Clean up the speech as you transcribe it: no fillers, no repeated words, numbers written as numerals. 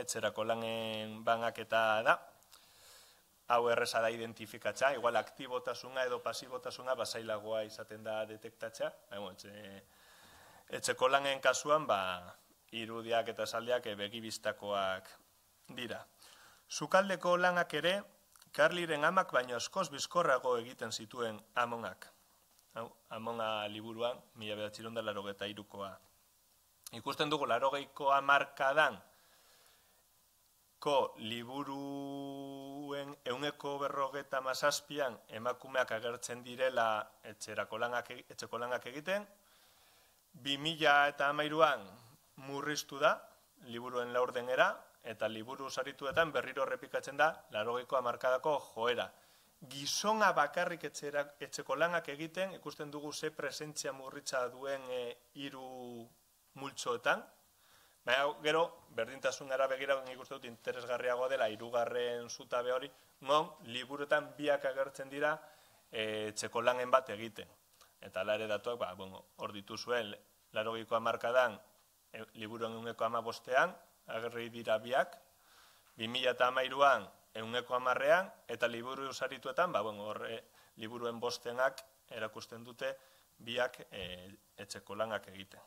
etxerako lanen banaketa da. Hau erreza da identifikatza, igual aktibotasuna edo pasibotasuna basailagoa izaten da detektatza. Etxeko lanen kasuan, irudiak eta esaldiak begibistakoak dira. Sukaldeko lanak ere, Karliren amak baino askoz bizkorrago egiten zituen Amonak. Amona liburuan, 1983koa. Ikusten dugu, 80ko hamarkadan liburuen 157an emakumeak agertzen direla etxeko lanak egiten. 2013an murriztu da, liburuen laurdenera, eta liburu sarituetan berriro errepikatzen da 80ko hamarkadako joera. Gizona bakarrik etxeko lanak egiten, ikusten dugu ze presentzia murritza duen 3 multzoetan. Gero, berdintasunera begiratzen ikusten dut interesgarriago dela 3. zutabe hori, non liburuetan biak agertzen dira etxeko lanen bat egiten. Eta ala ere datuak, hor dituzuen, 80ko hamarkadan liburuen 115an, agerri dira biak, 2013an 110an, eta liburu sarituetan, liburuen 5ak erakusten dute biak etxeko lanak egiten.